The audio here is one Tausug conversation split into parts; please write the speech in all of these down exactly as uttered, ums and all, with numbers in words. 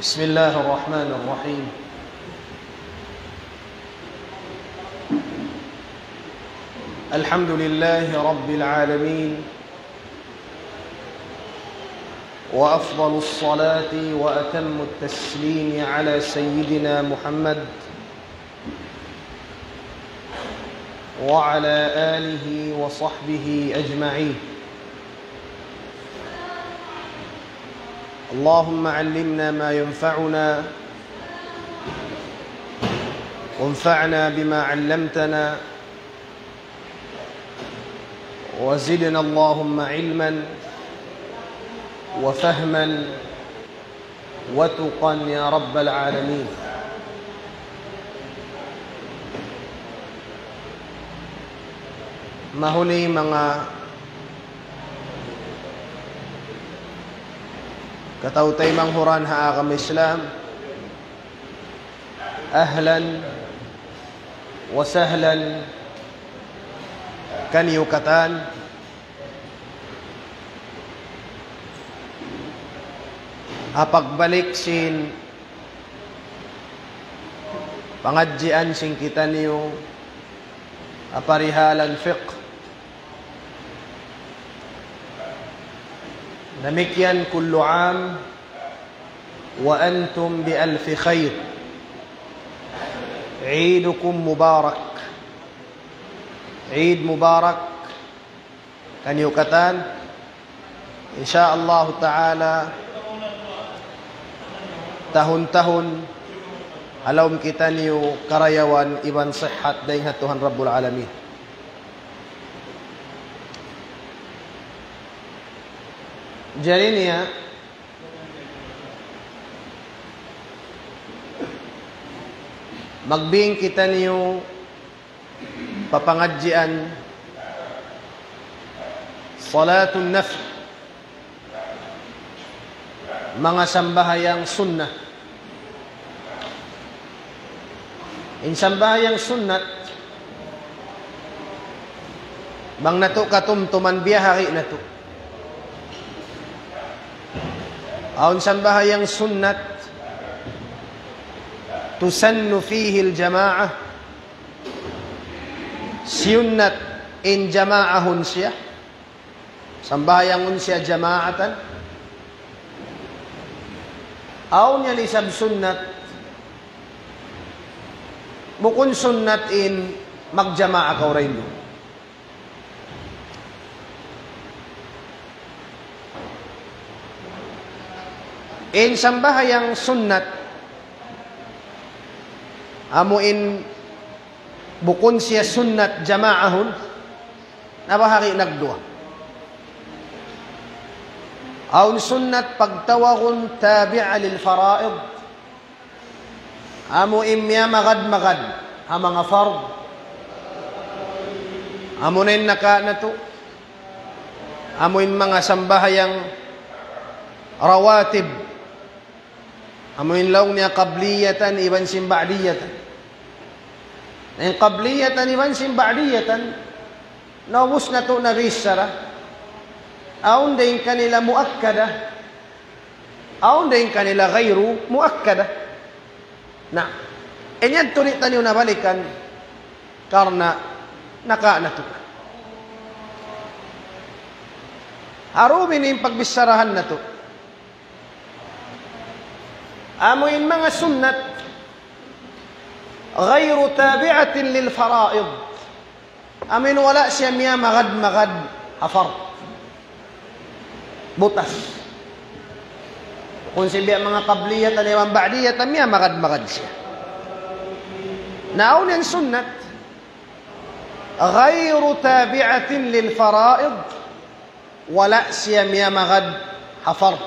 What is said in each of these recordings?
بسم الله الرحمن الرحيم. الحمد لله رب العالمين، وأفضل الصلاة وأتم التسليم على سيدنا محمد وعلى آله وصحبه أجمعين. اللهم علمنا ما ينفعنا، وانفعنا بما علمتنا، وزدنا اللهم علما وفهما وتقى يا رب العالمين. Mahuli manga kataw-taymanghuran ha agama Islam, ahlan wa sahlan kaniyu katan ha pagbalik sin pangadjian sin kitaniyu ha parihalan fiqh. Damikkiyan كل عام وأنتم بألف خير. عيدكم مبارك. Eid Mubarak kaniyu katan. Insya Allah Ta'ala, tahun-tahun ha lawm kitaniyu karayawan iban sihat dayn ha Tuhan Rabbul Alamin. Jari niya, magbing kitaniyu pa pangadjian salatun nafl, manga sambahayang sunnat. In sambahayang sunnat, bang natu' katumtuman biya' hari natu'. Awn sambahayang sunnat, تسن فيه الجماعة, siyunnat in jamaahun siya. Sambahayangun siya jamaatan. Awn yan isab sunnat. Bukun sunnat in magjamaa kaw dayn duun. In sambahayang sunnat, amu in bukun siya sunnat jamaahun, nabahagi' nagduwa. Awn sunnat pagtawagun tabi'a lil fara'id. Amu in miyamagad-magad ha manga fard. Amu na in naka natu'. Amu in manga sambahayang rawatib. Amu in laung niya qabliyatan iban sin ba'diyatan. Na in qabliyatan iban sin ba'diyatan, naubus natu' na bichara. Awn dayn kanila muakkada. Awn dayn kanila ghayru muakkada. Na, in yan tuud di' taniyu nabalikan karna' naka natu'. Harubi in pagbicharahan natu'. Amu in manga sunnat غير تابعة للفرائض. Amu in wala' siya miyamagad-magad ha fard. Butas. Bukun siya biya' manga qabliyatan iban ba'diyatan, miyamagad-magad siya. Na awn yan sunnat غير تابعة للفرائض. Wala' siya miyamagad ha fard.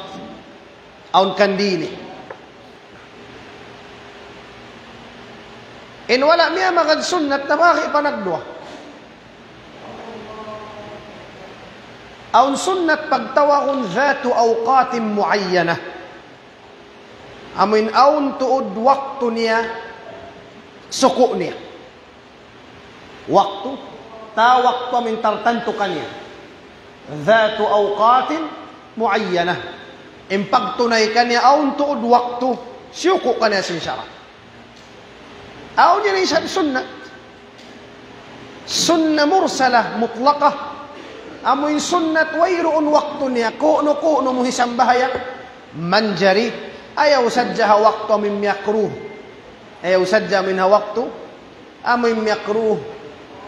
Awn kan dini. In wala' miyamagad sunnat, nabahagi' pa nagduwa. Awn sunnat pagtawagun ذات أوقات معينة. Amu in awn tuud waktu niya, suku' niya. Waktu, ta waktu amu in tartantu kaniya. ذات أوقات معينة. In pagtunay kaniya awn tuud waktu, siyuku' kaniya sin sara'. Awn yan isab sunnat. Sunna mursala mutlaqah. Amu in sunnat wayruun waktu niya, ku'nu-ku'nu mu hisambahayang. Manjari, ayaw sadja ha waktu amu in miyakruh. Ayaw sadja amu in ha waktu amu in miyakruh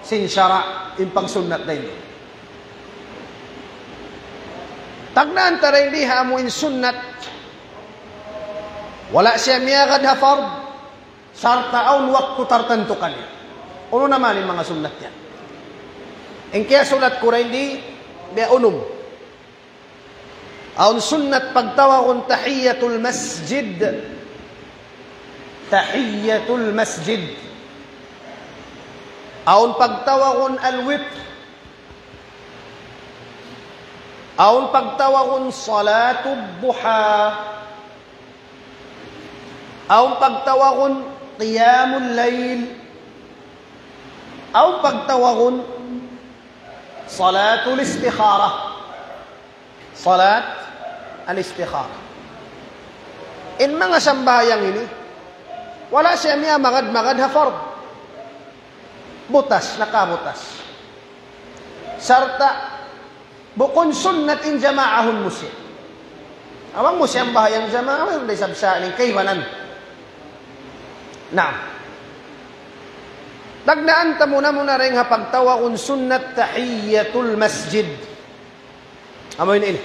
sin sara', in pagsunnat dayn di. Tagnaan ta dayn di ha amu in sunnat, wala' siya miyagad ha fard, sarta' awn waktu tartantu kaniya. Unu na man in manga sunnat yan? In kiyasulat ku dayn di, biya' unum. Awn sunnat pagtawagun tahiyyatul masjid. Tahiyyatul masjid. Awn pagtawagun al-witr. Awn pagtawagun salatud duha. Awn pagtawagun qiyamul layl. Awn pagtawagun salatul istikhara. Salat al-istikhara. In manga sambahayang ini, wala' siya miyamagad-magad ha fard. Butas, nakabutas. Sarta' bukun sunnat in jamaahun mu siya. Bang mu siyambahayang jamaa, wala' da isab sa in kaibanan. Naam. Tagnaan ta muna-muna dayn ha pagtawagun sunnat tahiyyatul masjid. Amu ini, ini.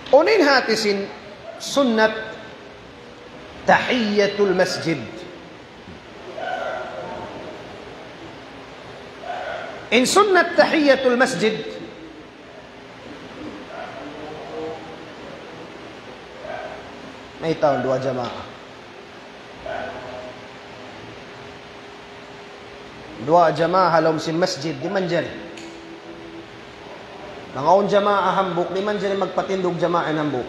Unu in hati sin sunnat tahiyyatul masjid? In sunnat tahiyyatul masjid, mayta' duwa jamaa. Duwa jamaa ha lawm sin masjid, di' manjari. Bang awn jamaa hambuuk, di' manjari magpatindug jamaa in hambuuk.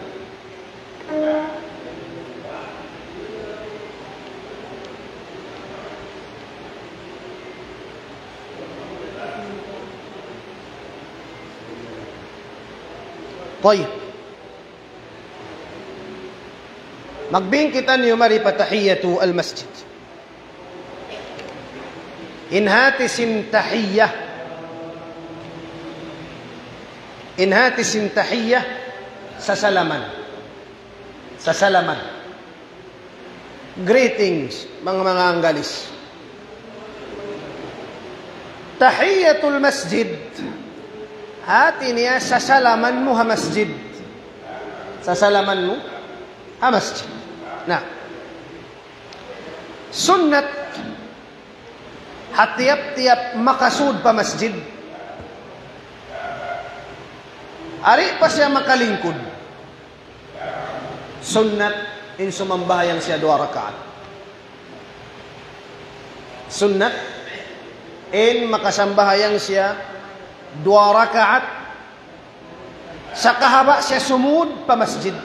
Tayyib. Magbin kitaniyu mari pa tahiyyatul masjid. In hati sin tahiyya. In hati sin tahiyya, sasalaman. Sasalaman. Greetings, manga, manga Anggalis. Tahiyyatul masjid. Hati niya sasalaman mu ha masjid. Sasalaman mu ha masjid. Na. Sunnat ha tiyap-tiyap makasud pa masjid. Di' pa siya makalingkud. Sunnat in sumambahayang siya duwa rakaat. Sunnat in makasambahayang siya duwa rakaat. Sakahaba' siya sumud pa masjid.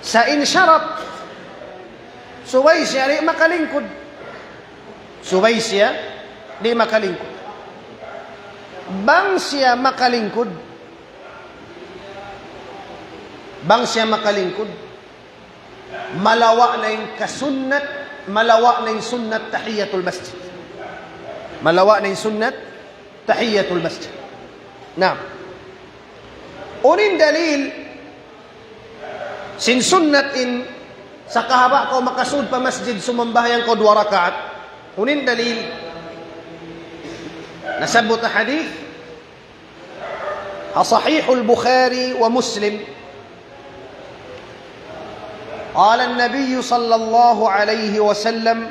Sa' in sharat, subay siya di' makalingkud. Subay siya di' makalingkud. Bang siya makalingkud, bang siya makalingkud, malawa' na in kasunnat, malawa' na in sunnat tahiyyatul masjid. Malawa' na in sunnat tahiyyatul masjid. Naam. Unu in dalil sin sunnat in sakahaba' kaw makasud pa masjid sumambahayang kaw duwa rakaat? Unu in dalil? Nasabbut ha hadith, ha Sahihul Bukhari wa Muslim. قال النبي صلى الله عليه وسلم: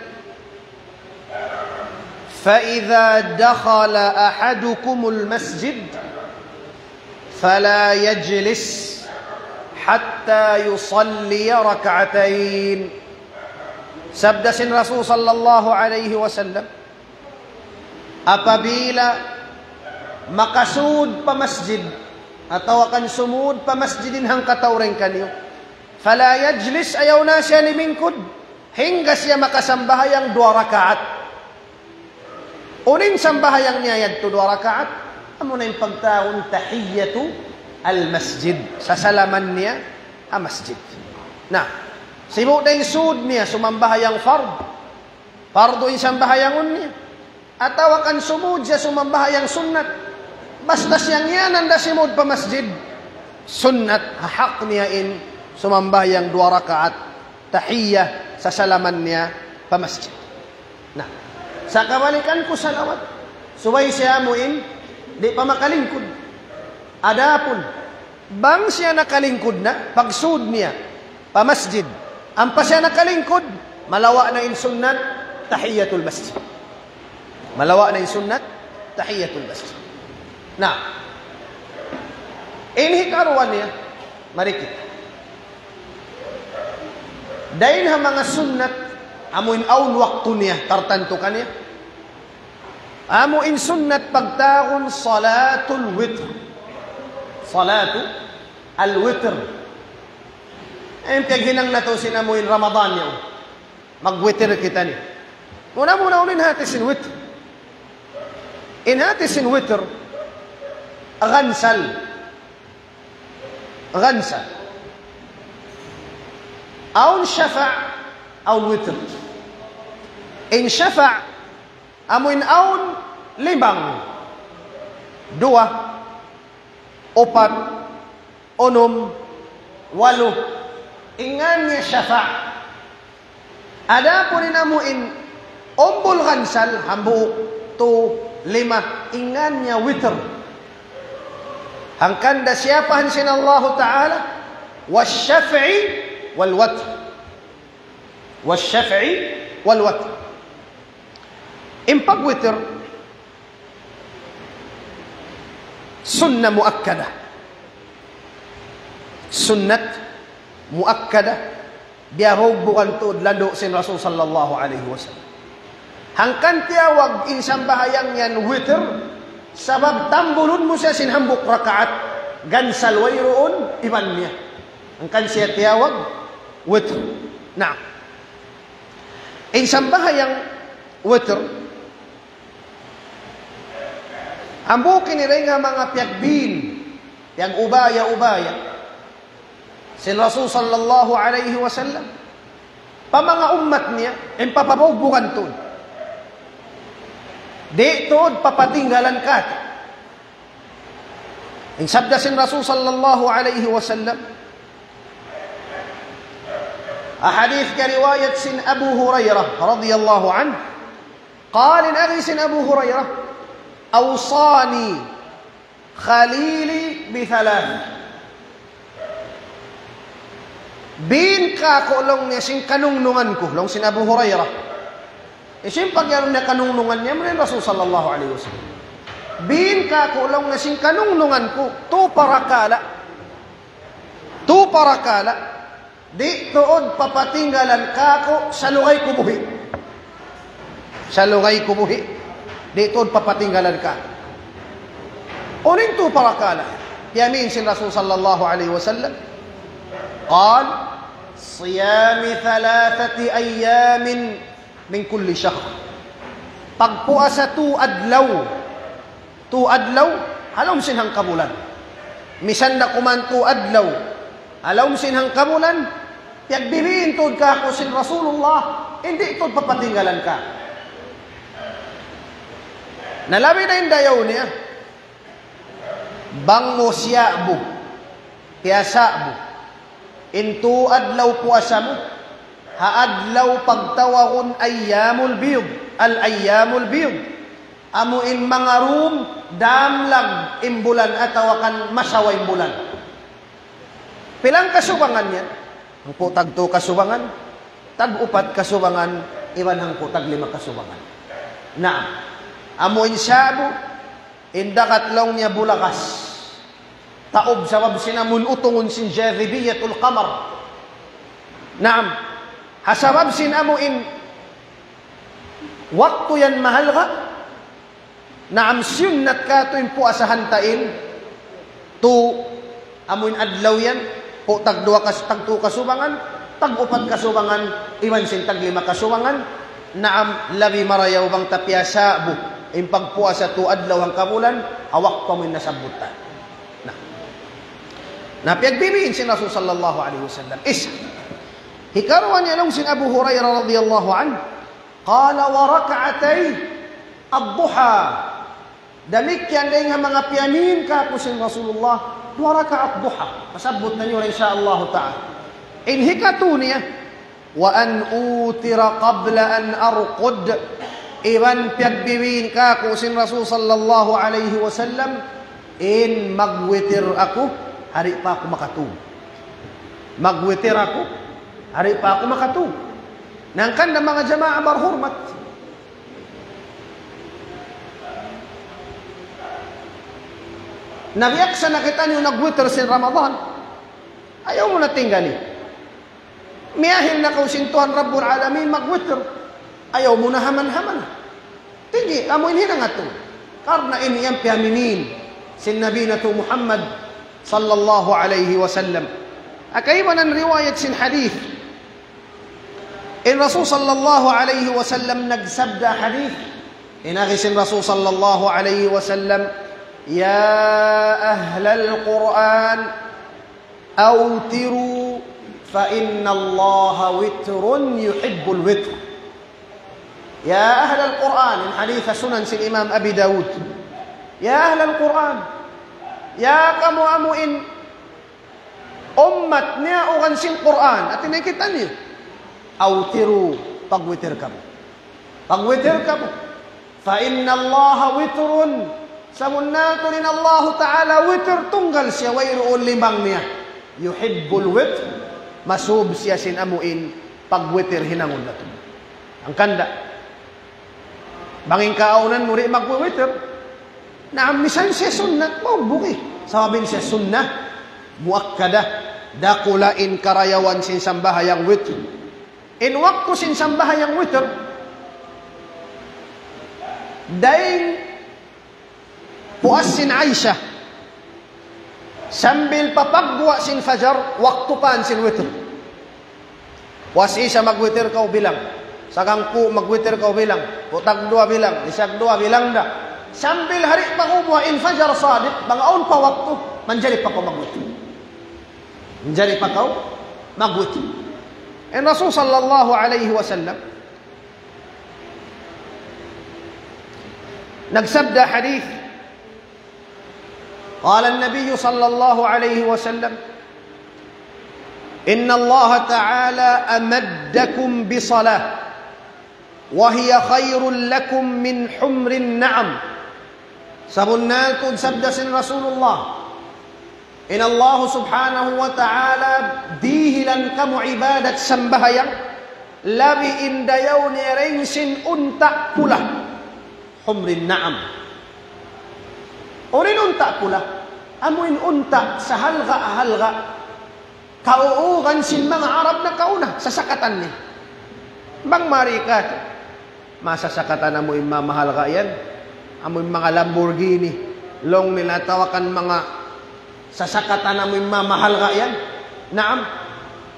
فإذا دخل أحدكم المسجد فلا يجلس حتى يصلي ركعتين. Sabda sin Rasul sallallahu alayhi wasallam, apabila makasud pa masjid, atawa kan sumud pa masjid in hangkatau dayn kaniyu, فلا يجلس, ayaw na siya limingkud, hangga siya makasambahayang duwa rakaat. Unu in sambahayang niya yadtu duwa rakaat? Amuna in pagtawagun tahiyyatu al-masjid. Sasalaman niya ha masjid. Na, sibu' da in sud niya sumambahayang fard. Fardu in sambahayangun niya. Atawa kan sumud siya sumambahayang sunnat. Basta siya ngiyanan da simud pa masjid, sunnat, hak niya in sumambahayang duwa rakaat tahiyya, sasalaman niya pa masjid. Na, sa' kabalikan ku salawat, subay siya amu in di' pa makalingkud. Adapun bang siya nakalingkud na, pagsud niya pa masjid, ampa siya nakalingkud, malawa' na in sunnat tahiyyatul masjid. Malawa' na in sunnat tahiyyatul masjid. Na, in hikaruwa niya, mari kita. Dayn ha manga sunnat, amu in awn waktu niya, tartantu kaniya. Amu in sunnat pagtawagun salatul witr. Salatu al-witr. In paghinang natu' sin amu in Ramadan niya. Mag-witr kita ini. Muna-muna unu in hati sin witr. In hati sin witr, ghansal. Ghansal. Awn shafa', awn witr. In shafa', amu in awn limang. Duwa, upat, unum, walu. In ngan niya shafa'. Adapun in amu in umbul ghansal, hambuuk, tu, lima, in ngan niya witr. Hangkan da siyapahan sin Allahu Ta'ala, والشفع والوتر. والشفع والوتر. In pag-witr, sunnah muakkada. Sunnat muakkada. Biya' bukan tuud landu' sin Rasul sallallahu alayhi wasallam. Hangkan tiyawag in sambahayang yan witr, sabab tambulun mu siya sin hambuuk rakaat, ghansal wayruun iban niya. Hangkan siya tiyawag witr. Na, in sambahayang witr, hambuuk ini dayn ha manga piyagbin, piyag-ubaya-ubaya sin Rasul sallallahu alayhi wasallam pa manga ummat niya, in papabugbugan tuud. Di' tuud papatinggalan katu'. In sabda sin Rasul sallallahu alayhi wasallam, ha hadith riwayat sin Abu Hurairah radiyallahu anhu, قال, in agi sin Abu Hurairah, أوصاني خليلي بثلاث. Bin kāku' laung niya sin kanungnungan ku, laung sin Abu Hurairah. Hisiyu in pag-iyanun niya kanungnungan niya, amuna in Rasul sallallahu alayhi wasallam. Bin kāku' laung niya sin kanungnungan ku, tu parakala'. Tu parakala'. Di' tuud papatinggalan kāku' salugay ku buhi'. Salugay ku buhi'. Di' tuud papatinggalan kāku'. Unu in tu parakala'? Piyamin sin Rasul sallallahu alayhi wasallam. قال: صيام ثلاثة أيام من كل شهر. Pagpuasa tu adlaw. Tu adlaw, ha lawm sin hangkabulan. Misan da kuman tu adlaw, ha lawm sin hangkabulan, piyagbibiin tuud kāku' sin Rasulullah, di' tuud papatinggalan kāku'. Na labi na in dayaw niya, bang mu siya'bu, piyasa'bu in tu adlaw puasa mu, ha adlaw pagtawagun ayyamul bid, al-ayyamul bid. Amu in manga dum damlag in bulan atawa kan masawa in bulan. Pila in kasubangan niya? Hangpu' tagtu kasubangan, tag-upat kasubangan, iban hangpu' taglima kasubangan. Naam. Amu in sa'bu, in dagat laung niya bulakas. Taub sabab sin amun utungun sin jadhibiyatul qamar. Naam. Ha sabab sin amu in waktu yan mahalga'. Naam, siyunnat katu' in puasahan ta in tu, amu in adlaw yan, pu' tagduwa kas-, tagtu kasubangan, tag-upat kasubangan, iban sin taglima kasubangan. Naam, labi marayaw bang ta piyasa'bu in pagpuasa tu adlaw hangkabulan, ha waktu amu in nasabbut ta. Na. Na piyagbibiin sin Rasul sallallahu alayhi wasallam. Isa. Hikaruwa niya laung sin Abu Hurairah radiyallahu anhu. قال: وركعتي الضحى. Damikkiyan dayn ha manga piyamin kāku' sin Rasulullah, duwa rakaat duha. Pasabbut natu' in sha Allah ta'ala. In hikatu niya, وأن أوتر قبل أن أرقد. Iban piyagbibiin kāku' sin Rasul sallallahu alayhi wasallam, in magwitir aku, di' pa aku makatug. Magwitir aku, di' pa aku makatug. Na hangkan da manga jamaa barhurmat. Nabiyaksa na kitaniyu nagwitir sin Ramadan. Ayaw mu na tinggali. Miyahil na kaw sin Tuhan Rabbul Alamin magwitir. Ayaw mu na haman-haman. Tinggi, amu in hinang natu'. Karna' in yan piyaminin sin Nabi natu' Muhammad sallallahu alayhi wasallam. Kaibanan riwayat sin hadith. In Rasul sallallahu alayhi wasallam nagsabda hadith. In agi sin Rasul sallallahu alayhi wasallam, يا أهل القرآن أوتروا فإن الله وتر يحب الوتر. يا أهل القرآن, in hadith sunan sin Imam Abi Dawud. يا أهل القرآن, ya kamu amu in ummat niya ugan sin Qur'an, ati na kitaniyu. أوتروا, pagwitir kamu. Pagwitir kamu. فإن الله وتر, sabunnal tuud in Allah ta'ala witir, tunggal siya, wayruun limbang niya. يحب الوتر, masub siya sin amu in pagwitir hinangun natu'. Hangkan da. Bang in kaawnan mu di' magwiwitir. Naam, misan siya sunnat, maubuk eh. Sabab in siya sunnah, muakkadah, dakula' in karayawan sin sambahayang witir. In waktu sin sambahayang witir, dayn puas sin Aisha, sambil pa pagguwa' sin fajar, waktu pa sin witir. Puas Isha magwitir kaw bilang. Sagangku' magwitir kaw bilang. Kutag duwa bilang. Lisag duwa bilang da. Sambil di' pa kaw buha' in fajar sadiq, bang awn pa waktu, manjari pa kaw magwitir. Manjari pa kaw magwitir. In Rasul sallallahu alayhi wasallam, nagsabda hadith, قال النبي صلى الله عليه وسلم: إن الله تعالى أمدكم بصلاة وهي خير لكم من حمر النعم. Sabunnal tuud sabda sin Rasulullah, in Allah subhanahu wa ta'ala dihilan kamu ibadat sambahayang, labi in dayaw niya dayn sin unta' pula. حمر النعم. Unu in unta' pula? Amu in unta' sahalga'-halga'. Kauugan sin manga Arab nakauna, sasakatan niya. Bang mari ka, masasakatan amu in mamahalga' yan. Amu in manga Lamborghini. Laung nila atawa kan manga sasakatan amu in mamahalga' yan. Naam.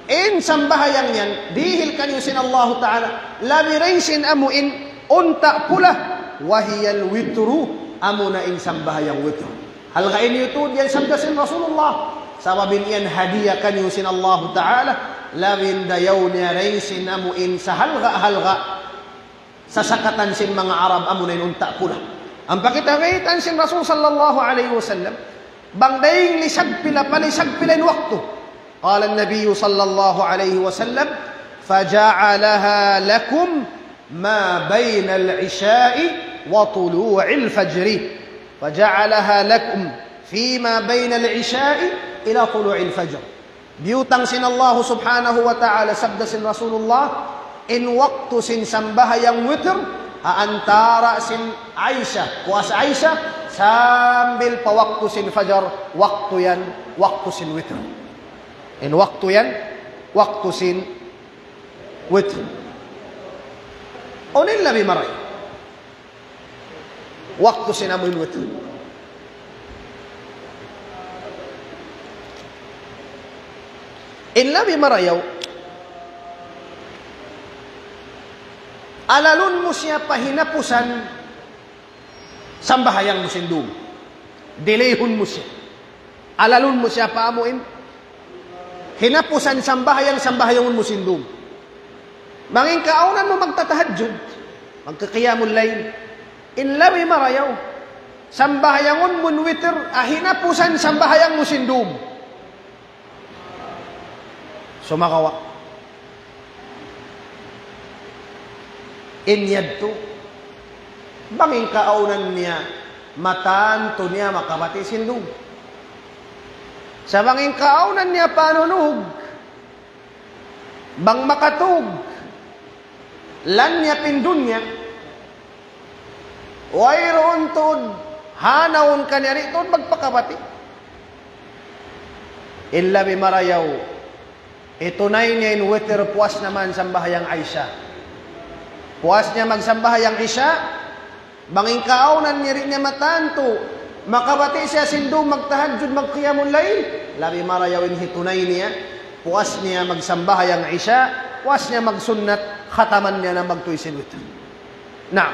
In sambahayang yan, dihil kaniyu sin Allahu Ta'ala. Labi dayn sin amu in unta' pula. وهي الوتر, amu na in sambahayang witr. Halga' in yutun yan sabda sin Rasulullah. Sabab in yan hadiya kaniyu sin Allahu Ta'ala. Labi in dayaw niya dayn sin amu in sahalga'-halga'. Sasakatan sin manga Arab amu na in unta' pula. Ampa kita baytaan sin Rasul sallallahu alayhi wasallam, bang dayng lisag pila pa lisag pila in waktu. قال النبي صلى الله عليه وسلم: فجعلها لكم ما بين العشاء وطلوع الفجر. فجعلها لكم فيما بين العشاء إلى طلوع الفجر. Biyutang sin Allahu subhanahu wa ta'ala, sabda sin Rasulullah, in waktu sin sambahayang witr, ha antara sin Aisha, puas Aisha, sambil pa waktu sin fajar, waktu yan, waktu sin witr. In waktu yan, waktu sin witr. Unu in labi marayaw? Waktu sin amu in witr. In labi marayaw, alalun mu siya pa hinapusan sambahayang mu sin dum. Delayhun mu siya. Alalun mu siya pa amu in Hinapusan sambahayang, sambahayangun mu sin dum. Bang in kaawnan mu magtatahajjud, magkakiyamul layl, in labi marayaw, sambahayangun mu in witir, ha hinapusan sambahayang mu sin dum. Sumagawa', in yadtu, bang in kaawnan niya, matantu niya makabati' sin dum. Sa' bang in kaawnan niya panunug, bang makatug, lan niya pindun niya, wayruun tuud hanawun kaniya, di' tuud magpakabati'. In labi marayaw, hitunay niya in witir puas naman sambahayang Isya. Puas niya magsambahayang Isya, bang in kaawnan niya di' niya matantu, makabati' siya sin dum magtahajjud, magkiyamul layl, labi marayaw in hitunay niya, puas niya magsambahayang Isya, puas niya magsunnat, khataman niya na magtuy sin witir. Na,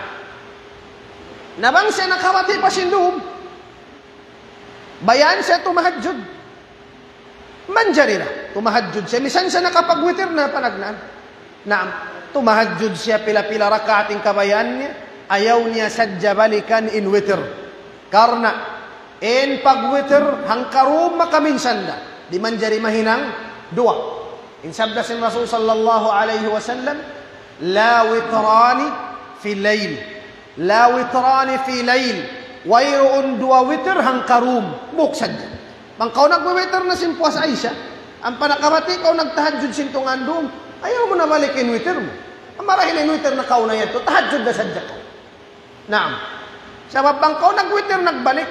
na bang siya nakabati' pa sin dum, bayaan siya tumahajjud. Manjari na, tumahajjud siya. Misan siya nakapagwitir na panagnaan. Naam, tumahajjud siya pila-pila rakaat in kabayaan niya. Ayaw niya sadja balikan in witir. Karna' in pagwitir hangkarum makaminsan da. Di' manjari mahinang duwa. In sabda sin Rasul sallallahu alayhi wasallam, لا وتران في ليل. لا وتران في ليل. Wayruun duwa witir hangkarum. Hambuuk sadja. Bang kaw nagwiwitir na sin puas Isya, ampa nakabati' kaw nagtahajjud sin tungan dum, ayaw mu na balik in witir mu. Ampa marahil in witir na kaw na yadtu, tahajjud na sadja kaw. Naam. Sabab bang kaw nagwitir nagbalik,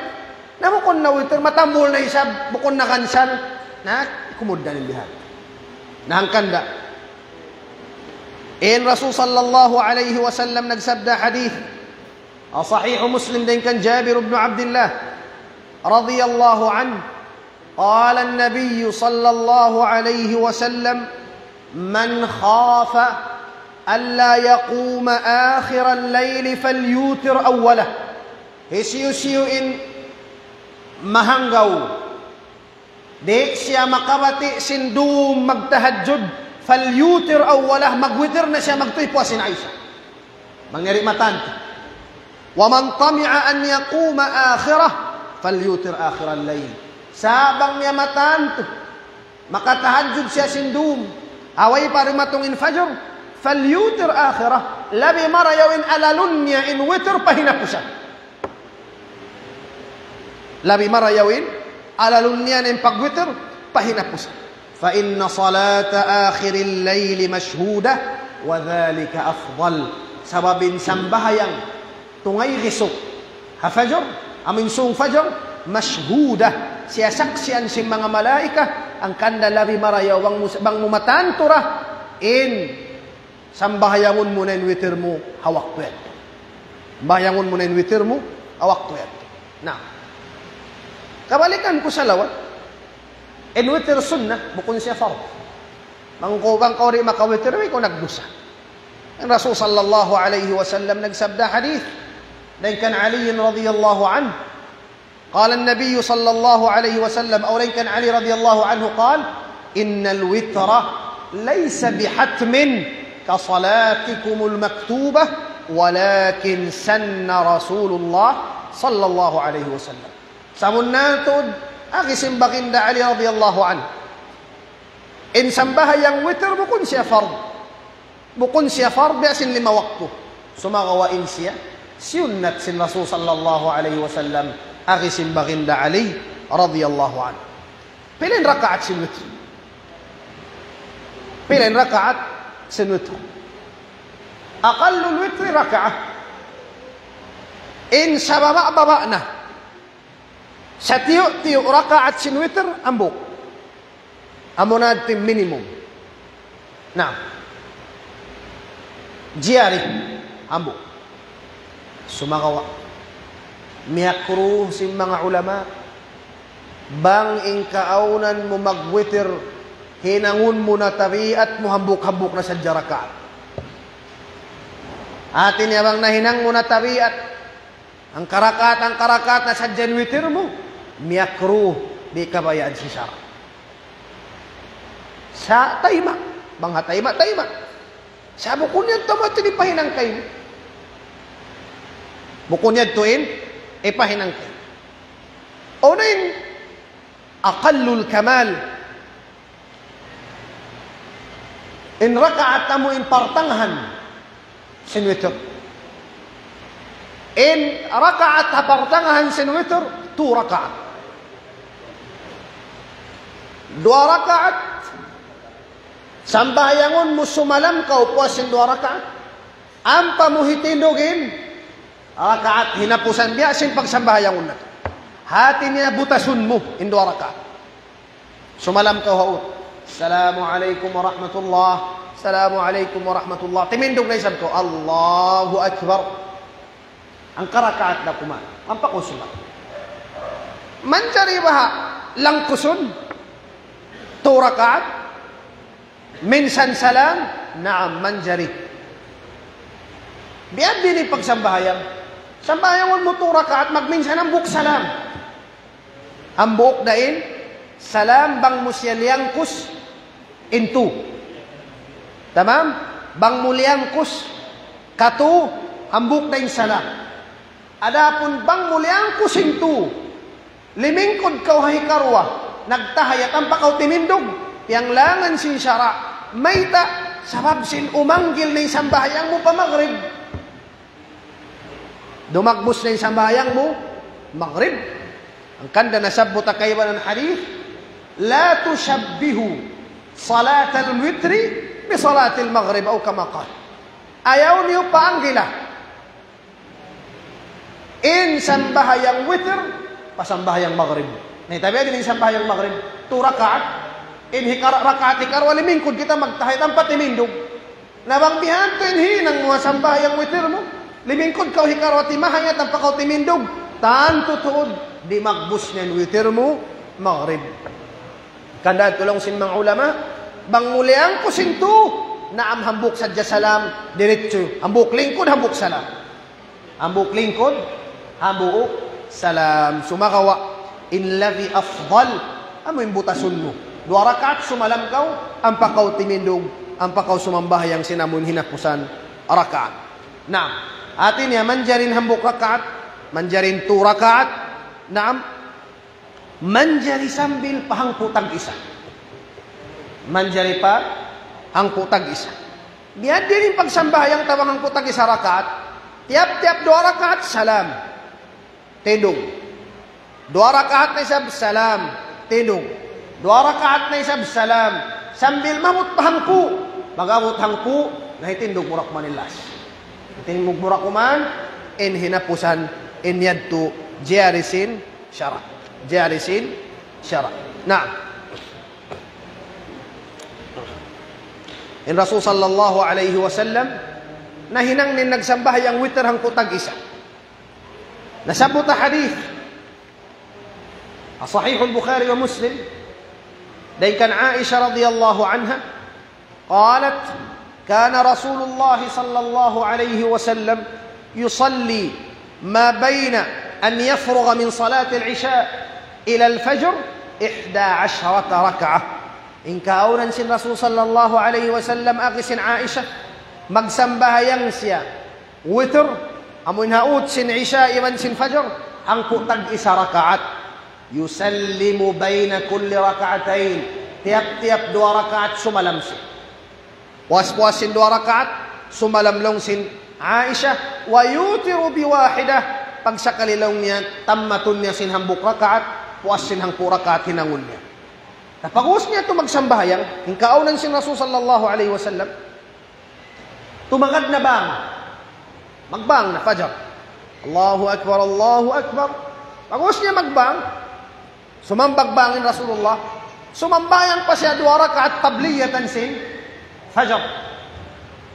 na bukun na witir, matambul na isab, bukun na kansal, na kumugdan in bihan. Na hangkan da. In Rasul sallallahu alayhi wasallam nagsabda hadith, ha Sahih Muslim dayn kan Jabir ibn Abdullah radiyallahu anhu, قال النبي صلى الله عليه وسلم: من خاف ألا يقوم آخر الليل فليوتر أوله. Hisiyu-siyu in mahanggaw di' siya makabati' sin dum magtahajjud, فليوتر أوله, magwitir na siya magtuy puas sin Isya. Bang niya di' matantu. ومن طمع أن يقوم آخره فليوتر آخر الليل. Sa' bang niya matantu, makatahajjud siya sin dum, ha way pa dumatung in fajr, فليوتر آخره. Labi marayaw in alalun niya in witir pa hinapusan. Labi marayaw in alalun niya in pagwitir pa hinapusan. فإن صلاة آخر الليل مشهودة وذلك أفضل. Sabab in sambahayang tungay gisuk ha fajr, amu in sūng fajr, مشهودة, siyasaksian sin manga malaikat, hangkan da labi marayaw bang mu, bang mu matantu ra in sambahayangun mu na in witir mu ha waktu yadtu. Sambahayangun mu na in witir mu ha waktu yadtu. Na, kabalikan ku salawat, in witir sunnah, bukun siya fard. Bang kaw, bang kaw di' makawitir, way kaw nagdusa. In Rasul sallallahu alayhi wasallam nagsabda hadith, dayn kan Ali radiyallahu anhu, قال النبي صلى الله عليه وسلم, aw dayn kan Ali radiyallahu anhu قال: إن الوتر ليس بحتم كصلاتكم المكتوبة ولكن سن رسول الله صلى الله عليه وسلم. Sabunnal tuud, agi sin baginda Ali radiyallahu anhu, in sambahayang witir bukun siya fard. Bukun siya fard, biya' sin lima waktu. Sumagawa' in siya siyunnat sin Rasul sallallahu alayhi wasallam, agi sin baginda Ali radiyallahu anhu. Pila in rakaat sin witir? Pila in rakaat sin witir? أقل الوتر ركعة. In sababa'-baba' na, satiyu'-tiyu' rakaat sin witir, hambuuk. Amu na yadtu in minimum. Na, jari, hambuuk. Sumagawa', miyakruh sin manga ulama, bang in kaawnan mu magwitir, hinangun mu na tabiat mu hambuuk-hambuuk na sadja rakaat. Hati niya bang nahinang mu na tabiat, hangka rakaat, hangka rakaat na sadja in witir mu, miyakruh, di' kabayaan sin sara'. Sa' tayma'. Bang ha tayma', tayma'. Sa' bukun yadtu amu in hipahinang kaymu. Bukun yadtu in hipahinang kaymu. Unu in aqallul kamal? In rakaat amu in partangahan sin witr. In rakaat ha partangahan sin witr, two rakaat. Duwa rakaat, sambahayangun mu sumalam kaw puas sin duwa rakaat. Ampa mu hitindug in rakaat hinapusan biya' sin pagsambahayangun natu'. Hati niya butasun mu in duwa rakaat. Sumalam kaw ha ut. Assalamu alaykum warahmatullah. Assalamu alaykum warahmatullah. Timindug na isab kaw. Allahu Akbar. Hangka rakaat da kuman. Ampa kaw sumalam. Manjari baha' langkusun? Two rakaat? Minsan salam? Naam, manjari. Biya' diin in pagsambahayang. Sambahayangun mu two rakaat, magminsan hambuuk salam. Hambuuk da in salam bang mu siya liyangkus in two. Tamam? Bang mu liyangkus ka two, hambuuk da in salam. Adapun bang mu liyangkus in two, limingkud kaw ha hikaruwa, nagtahiyat ampa kaw timindug, piyanglangan sin sara', mayta', sabab sin umanggil na in sambahayang mu pa magrib. Dumagbus na in sambahayang mu magrib. Hangkan da nasabbut ha kaibanan hadith, لا تشبهوا صلاة الوتر بصلاة المغرب أو كما قال. Ayaw niyu paanggila in sambahayang witr pa sambahayang magrib. Na, tabi' diin in sambahayang magrib, two rakaat. In hikara-, rakaat hikaruwa limingkud kita magtahiyat ampa timindug. Na bang biya' hādtu in hinang mu ha sambahayang witr mu, limingkud kaw hikaruwa timahayat ampa kaw timindug, tantu tuud di' magbus niya in witr mu magrib. Hangkan da tuud laung sin manga ulama, bang mu liyangkus in two, naam, hambuuk sadja salam, diritsu. Hambuuk lingkud, hambuuk salam. Hambuuk lingkud, hambuuk salam. Sumagawa', in labi afdal, amu in butasun mu. Duwa rakaat sumalam kaw, ampa kaw timindug, ampa kaw sumambahayang sin amu in hinapusan rakaat. Naam. Hati niya manjari in hambuuk rakaat, manjari in two rakaat. Naam. Manjari sambil pa hangpu' tag-isa. Manjari pa hangpu' tag-isa. Biya' diin in pagsambahayang ta bang hangpu' tag-isa rakaat. Tiyap-tiyap duwa rakaat, salam. Tindug. Duwa rakaat na isab, salam. Tindug. Duwa rakaat na isab, salam. Sambil maabut pa hangpu'. Pag-abut hangpu', na hitindug mu ra kuman in last. Hitindug mu ra kuman in hinapusan, in yadtu jari sin sara'. Jari sin sara'. Naam. In Rasul sallallahu alayhi wasallam, nahinang niya in nagsambahayang witr hangpu' tag-isa. Nasabbut ha hadith, Sahih al-Bukhari wa Muslim, dayn kan Aisha radiyallahu anha, قالت: كان رسول الله صلى الله عليه وسلم يصلي ما بين أن يفرغ من صلاة العشاء إلى الفجر إحدى عشرة ركعة. In kaawnan sin Rasul sallallahu alayhi wasallam, agi sin Aisha, magsambahayang siya witr, amu in ha ut sin Isha iban sin Fajr, hangpu' tag-isa rakaat. يسلم بين كل ركعتين. Tiyap-tiyap duwa rakaat sumalam siya. Puas-puas sin duwa rakaat, sumalam laung sin Aisha, ويوتر بواحدة. Pagsakali laung niya, tammatun niya sin hambuuk rakaat, puas sin hangpu' rakaat hinangun niya. Na pag'ubus niya tuud magsambahayang, in kaawnan sin Rasul sallallahu alayhi wasallam, tumagad na bang. Magbang na Fajr. Allahu Akbar, Allahu Akbar. Pag'ubus niya magbang, sumambag bang in Rasulullah. Sumambahayang pa siya duwa rakaat qabliyatan sin Fajr.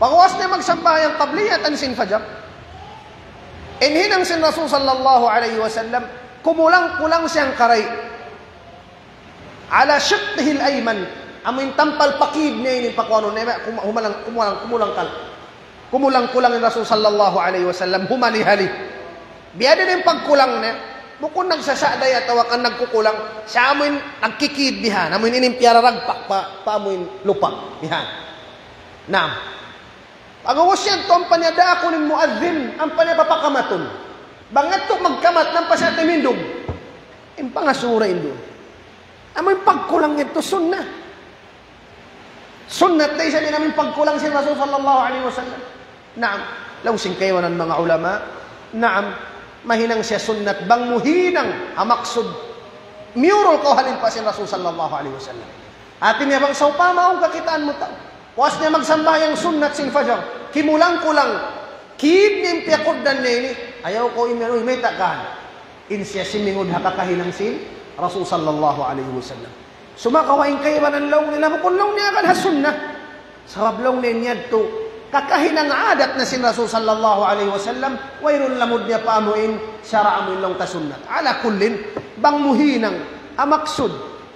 Pag'ubus niya magsambahayang qabliyatan sin Fajr, in hinang sin Rasul sallallahu alayhi wasallam, kumulang-kulang siya hangkaray. على شقه الأيمن. Amu in tampal pakid niya ini pakuanun niya, kum-, humalang, kumulang, kumulang kal-, kumulang-kulang in Rasul sallallahu alayhi wasallam, humali-hali. Biya' diin in pagkulang niya? Bukun nagsasa'day atawa kan nagkukulang, siya amuin nagkikid bihan, amuin ini in piyararagpak pa, pa amuin lupa bihan. Naam. Pag'ubus yan, tuwan pa niya daakun in muadhin, ampa niya papakamatun. Bang yadtu magkamat, nampa siya timindug. In pangasubu ra in duun. Amuin pagkulang yadtu sunnat. Sunnat da isab in amuin pagkulang sin Rasul sallallahu alayhi wasallam. Naam, laung sin kaibanan manga ulama, naam, mahinang siya sunnat bang mu hinang ha maksud miyurul kaw ha limpa sin Rasul sallallahu alayhi wasallam. Hati niya bang sawpama awn kakitaan mu tau, puas niya magsambahayang sunnat sin fajar, kimulang-kulang, kid niya in piyakugdan niya ini, ayaw kaw imiyan, uy, mayta' kan. In siya simingud ha kakahinang sin Rasul sallallahu alayhi wasallam. Sumagawa' in kaibanan laung nila, bukun laung niya kan ha sunnah. Sabab laung niya in yadtu, kakahinang adat na sin Rasul sallallahu alayhi wasallam, wayruun lamud niya pa amuin, sara' amuin laung ta sunnat. Ala kullin, bang mu hinang, ha maksud,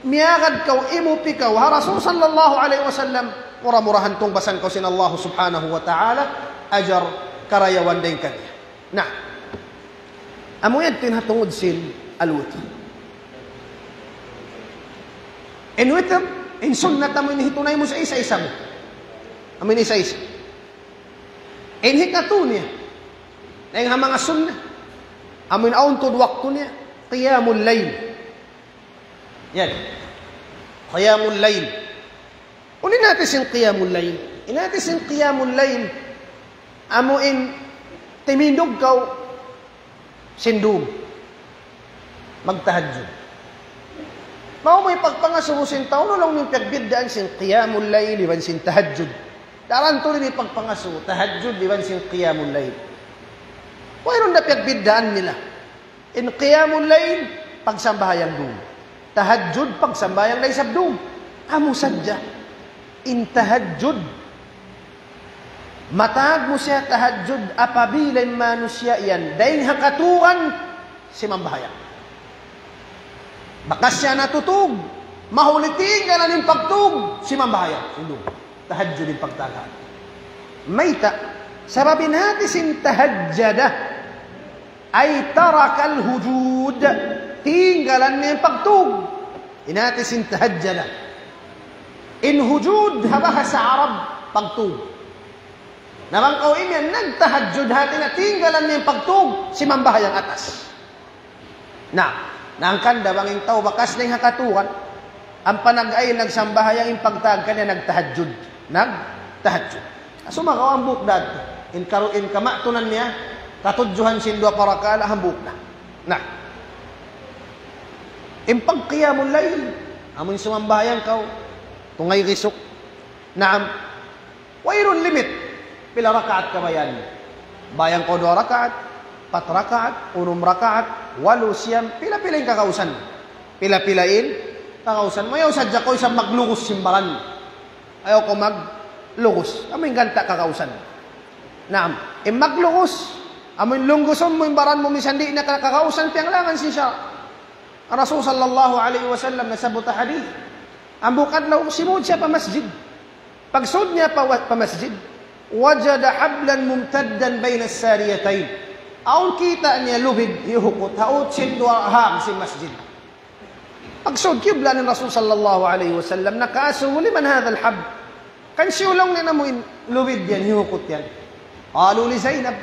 miyagad kaw, imupi kaw, ha Rasul sallallahu alayhi wasallam, mura-murahan tungbasan kaw sin Allah subhanahu wa ta'ala, ajar karayawan dayn kaniya. Na, amu yadtu in ha tungud sin al-witr. In witr, in sunnat amu in hitunay mu sa isa-isa mu. Amu in isa-isa. In hikatu niya, dayn ha manga sunnat, amu in awn tuud waktu niya, qiyamul layl. Yan. Qiyamul layl. Unu in hati sin qiyamul layl? In hati sin qiyamul layl, amu in timindug kaw sin dum. Magtahajjud. Maunu in pagpangasubu sin tau, unu laung niyu in piyagbiddaan sin qiyamul layl iban sin tahajjud? Daran tuud in pagpangasubu, tahajjud iban sin qiyamul layl. Wayruun da piyagbiddaan nila. In qiyamul layl, pagsambahayang dum. Tahajjud, pagsambahayang da isab dum. Amu sadja. In tahajjud, mataud mu siya tahajjud apabila in manusiya' yan dayn ha katuran simambahayang. Bakas siya natutug, mahuli tinggalan in pagtug, simambahayang. Sindung. Tahajjud in pagtagaan. Mayta'? Sabab in hati sin tahajjada, ay tarakal hujud. Tinggalan niya in pagtug. In hati sin tahajjada. In hujud ha bahasa Arab, pagtug. Na bang kaw imiyan nagtahajjud, hati niya tinggalan niya in pagtug, simambahayang atas. Na, na hangkan da bang in tau bakas dayn ha katuran, ampa nag-ayil nagsambahayang in pagtag kaniya nagtahajjud. Nagtahajjud. Sumagawa' hambuuk da. In karu-, in kamatunan niya, katudjuhan sin duwa parakala' hambuuk da. Na. In pagqiyamul layl, amu in sumambahayang kaw, tungay risuk. Naam. Wayruun limit. Pila rakaat kabayaan mu? Bayang kaw duwa rakaat, pat rakaat, unum rakaat, walu, siyam, pila-pila in kakausan. Pila-pila in kakausan. Mayaw sadja kaw isab maglugus sin baran. Ayaw kaw maglugus. Amu in ganta' kakausan. Naam. In maglugus, amu in lunggusun mu in baran mu misan di' na ka-, kakausan, piyanglangan sin sara'. Rasul sallallahu alayhi wasallam nasabbut ha hadith. Hambuuk adlaw, simud siya pa masjid. Pagsud niya pa wa-, pa masjid, wajada hablan mumtaddan bayna sariyatayn. Awn kita' niya lubid hiyukut ha ut sin duwa hang sin masjid. Pagsud kibla in Rasul sallallahu alayhi wasallam, nakaasubu, "Liman hadha al-hab?" Kansiyu laung niya amu in lubid yan, hiyukut yan? Qalu li Zainab.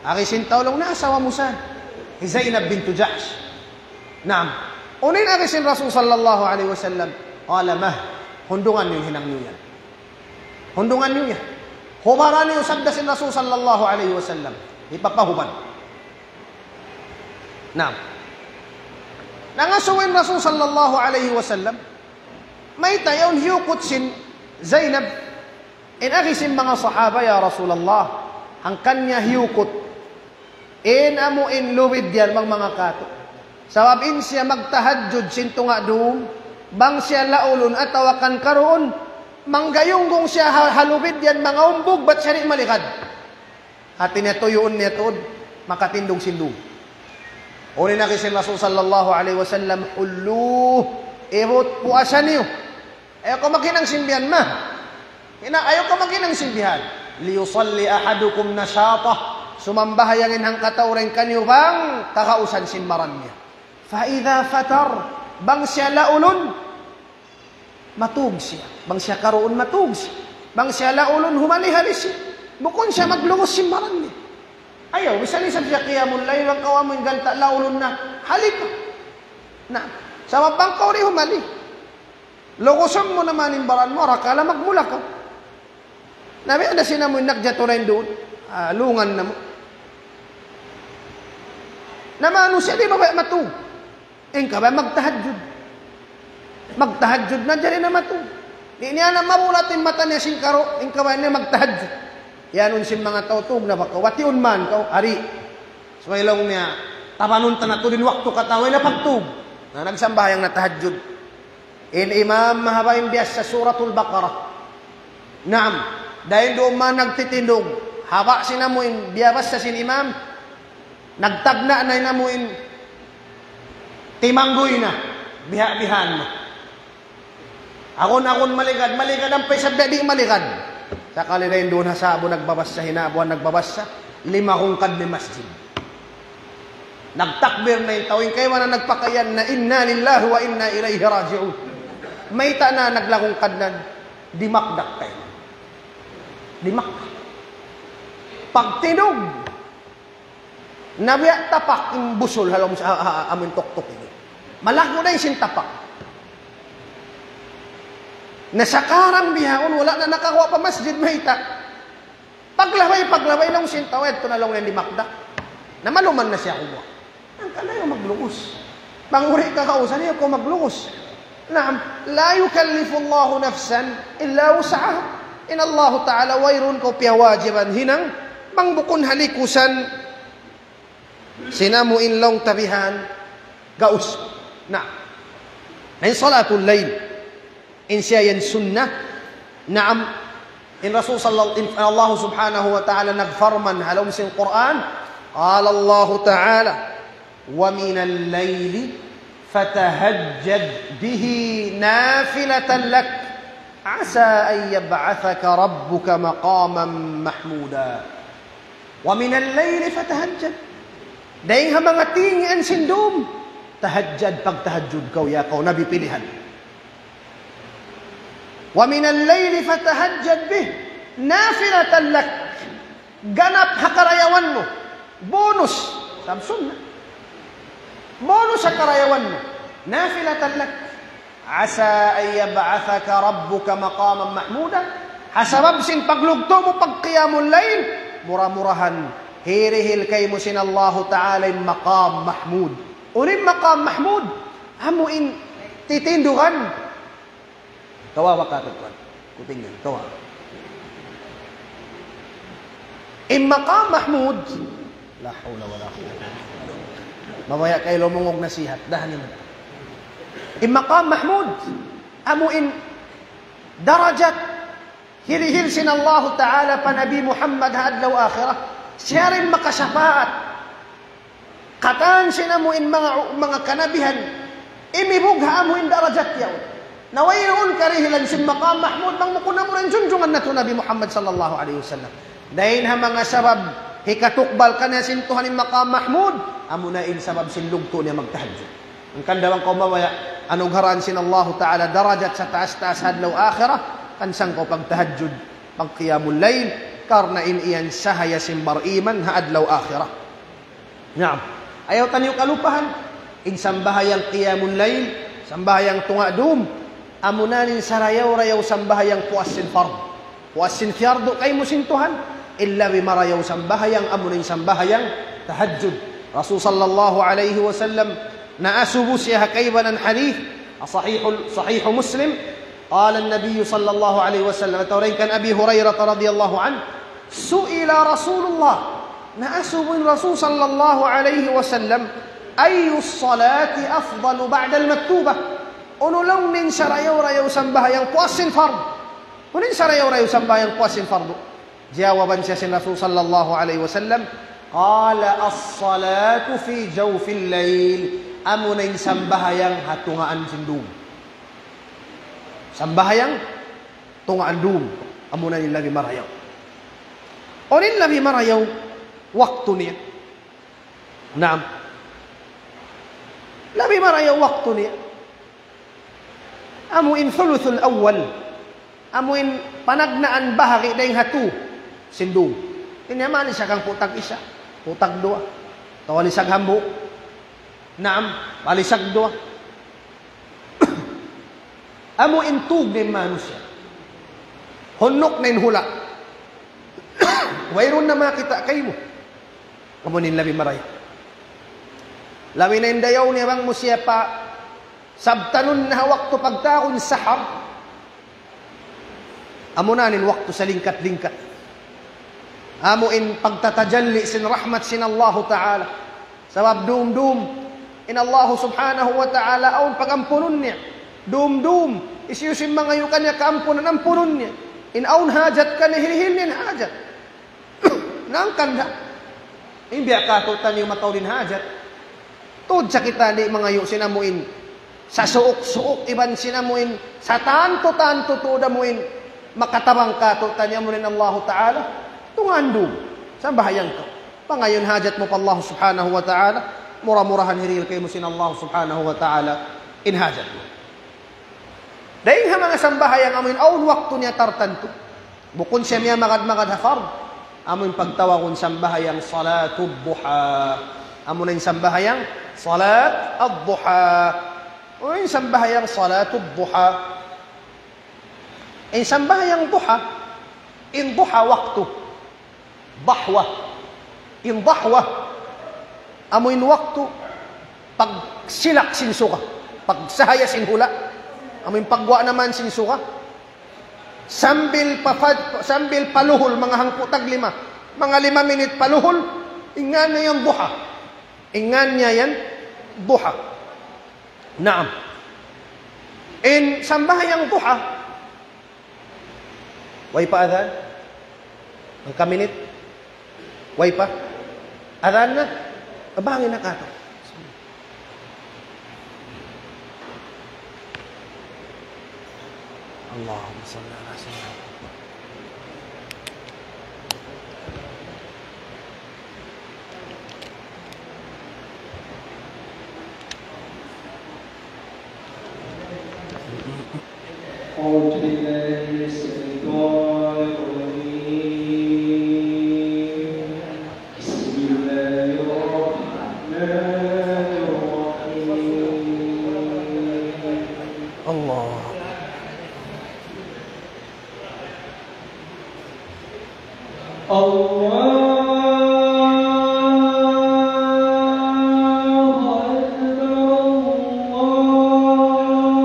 Agi sin tau laung niya asawa mu sa. Hi Zainab bintu Jahsh. Naam. Unu in agi sin Rasul sallallahu alayhi wasallam? Qala mah, hundungan niyu in hinang niyu yan. Hundungan niyu yan. Hubara niyu, sabda sin Rasul sallallahu alayhi wasallam. Hipapahubad. Naam. Nangasubu in Rasul sallallahu alayhi wasallam. Mayta' yaun hiyukut sin Zainab? In agi sin manga sahaba, "Ya Rasulullah, hangkan niya hiyukut in amu in lubid yan bang manga katu'. Sabab in siya magtahajjud sin tunga' dum, bang siya laulun atawa kan karuun, manggayunggung siya ha, ha lubid yan manga umbug, bat siya di' malikad." Hati niya tuyuun niya tuud, makatindug sin dum. Unu in agi sin Rasul sallallahu alayhi wasallam, "Hulluh, ibut puasa niyu." Ayaw kaw maghinang sin bihan, ma. Hina-, ayaw kaw maghinang sin bihan. "Liyusalli ahadukum nashatah." Sumambahayang in hangkatau dayn kaniyu bang kagausan sin baran niya. فإذا فتر, bang siya laulun, matug siya. Bang siya karuun, matug siya. Bang siya laulun, humali-hali siya. Bukun siya maglugus sin baran niya. Ayaw, misan isab siya qiyamul layl, bang kaw amu in ganta' laulun na, hali kaw. Na, sabab bang kaw di' humali, lugusun mu na man in baran mu, arakala' magmula kaw. Na biya' da sin amu in nagjatu dayn duun. Ah, lungan na mu. Na manusiya' di' ba baya' matug? In kabaya' magtahajjud. Magtahajjud na jari na matug. Di' niya na mabulat in mata niya sin karu', in kabaya' niya magtahajjud. Yan un sin manga tau tug na ba kaw. Watiun man kaw, ari. Subay laung niya, tabanun ta na tuud in waktu katan way na pagtug. Na nagsambahayang na tahajjud. In imam mahaba' in biyassa Suratul Baqarah. Naam, dayn duun man nagtitindug. Haba' sin amu in biyabassa sin imam. Nagtagna' na in amu in timangguy na. Biha'-bihaan na. Agun-agun maligad, maligad ampa isab di' maligad. Sakali dayn duun ha sa'bu nagbabassa, hinabuan nagbabassa, lima hungkad na in masjid. Nagtakbir na in tau, in kaibanan nagpakaiyan na, "إنا لله وإنا إليه راجعون." Mayta' na naglahungkad na, dimakdak kaibanan. Dimakdak. Pagtindug, na biya' tapak in busul ha lawm sa, ha, ha, amun tuktuk ini. Malaggu' na in sin tapak. Na sakarang bihaun, wala' na nakaguwa' pa masjid, mayta'. Paglabay, paglabay laung sin tau, yadtu na laung niya dimakdak. Na maluman na siya kumuha'. Hangkan ayaw maglugus. Bang uri kagausan, ayaw kaw maglugus. Naam, لا يكلف الله نفسا إلا وسعها. In Allahu Ta'ala wayruun kaw piyawajiban hinang, bang bukun ha likusan sin amu in laung ta bihan, gaus. Na, in salatul layl, in siya yan sunnah. Naam, in Rasul sallallahu, in Allah subhanahu wa ta'ala nagparman ha lawm sin Qur'an, قال الله تعالى: ومن الليل فتهجد به نافلة لك عسى أن يبعثك ربك مقاما محمودا. ومن الليل فتهجد. Dayng ha manga tingian sin dum, tahajjud, pagtahajjud kaw, ya kaw Nabi pilihan. ومن الليل فتهجد به نافلة لك. Ganap ha karayawan mu. Bonus. Sabab sunnat. Bonus ha karayawan mu. نافلة لك. عسى أن يبعثك ربك مقاما محمودا. Ha sabab sin paglugtu' mu pagqiyamul layl, mura-murahan hirihil kaymu sin Allahu Ta'ala in maqam mahmud. Unu in maqam mahmud? Amu in titindugan. Kawawa ka tuwan. Kutingan, kawawa. In maqam mahmud. La hawla wala quwwata illa billah. Mabaya' kay lumungug nasihat. Dahan niyu. In maqam mahmud. Amu in darajat hirihil sin Allahu Ta'ala pa Nabi Muhammad ha adlaw akhirat. Siya in makasapaat. Katan sin amu in manga, manga kanabihan, imibug ha amu in darajat yaun. Na wayruun karihilan sin maqam mahmud, bang bukun amu in junjungan natu' Nabi Muhammad sallallahu alayhi wasallam. Dayn ha manga sabab hikatukbal kaniya sin Tuhan in maqam mahmud, amu na in sabab sin lugtu' niya magtahajjud. Hangkan da bang kaw mabaya' anugharaan sin Allahu Ta'ala darajat sataas-taas ha adlaw akhirat, kan sangkaw pagtahajjud, pagqiyamul layl, karna' in yan sahaya sin bariman ha adlaw akhirat. Naam. Ayaw taniyu kalupahan, in sambahayang qiyamul layl, sambahayang tunga' dum, amuna in sarayaw-rayaw sambahayang puas sin fardu. Puas sin fiyardu kaymu sin Tuhan, in labi marayaw sambahayang, amuna in sambahayang tahajjud. Rasul sallallahu alayhi wasallam, naasubu siya ha kaibanan hadith, sahihul, sahihu Muslim, قال النبي صلى الله عليه وسلم, atawa dayn kan Abi Hurairah radiyallahu anhu, سئل رسول الله, naasubu in Rasul sallallahu alayhi wasallam, أي الصلاة أفضل بعد المكتوبة؟ Unu laung niya in sarayaw-rayaw sambahayang puas sin fardu? Unu in sarayaw-rayaw sambahayang puas sin fardu? Jawaban siya sin Rasul sallallahu alayhi wasallam, قال الصلاة في جوف الليل. Amuna in sambahayang ha tungaan sin dum. Sambahayang tungaan dum, amuna in labi marayaw. Unu in labi marayaw? waktu niya. Naam. Labi marayaw waktu niya. Amu in thuluthul awwal. Amu in panagnaan bahagi' dayng ha tū sin dum. Ini amu lisag hangpu' tag isa, hangpu' tag duwa. Atawa lisag hambuuk. Naam, palisag duwa. Amu in tug na in manusiya'. Hunnuk na in hula'. Wayruun na makakita' kaymu. Amu in labi marayaw. Labi na in dayaw niya bang mu siya pa sabtanun na ha waktu pagtawagun sahar. Amu na in waktu salingkat-lingkat. Amu in pagtatajalli sin rahmat sin Allahu Ta'ala. Sabab dum-dum in Allahu Subhanahu wa Ta'ala awn pagampunun niya. Dum-dum, hisiyu-siyu in mangayu' kaniya kaampunan, ampunun niya. In awn hajat kaniya, hilhil niya in hajat. Hangkan da. In biya' katu'taniyu mataud in hajat. Tuud sa kita di' mangayu' sin amu in sasuuk-suuk iban sin amu in satantu-tantu tuud amu in makatabang katu'taniyu amu in Allahu Ta'ala. Tungaan dum. Sambahayang kaw. Pangayuun hajat mu pa Allah Subhanahu wa Ta'ala. Mura-murahan hirihil kaymu sin Allah Subhanahu wa Ta'ala in hajat mu. Dayng ha manga sambahayang amu in awn waktu niya tartantu. Bukun siya miyamagad-magad ha fard. Amu in pagtawagun sambahayang salatud duha. Amu na in sambahayang salat ad-duha. Unu in sambahayang salatud duha? In sambahayang duha, in duha waktu. Dahwa. In dahwa, amu in waktu pagsilak sin suga, pagsahaya sin hula', amu in pagguwa' na man sin suga. Sambil pa, sambil paluhul, manga hangpu' tag lima, manga lima minit paluhul, in ngan niya yan duha. In ngan niya yan duha. Naam. In sambahayang duha, way pa adhan? Hangka minit? Way pa? Adhan na? Abangin na katu'. اللهم صل على سيدنا محمد. أعوذ بالله من الشيطان الرجيم. بسم الله الرحمن الرحيم. الله. الله أكبر، الله أكبر.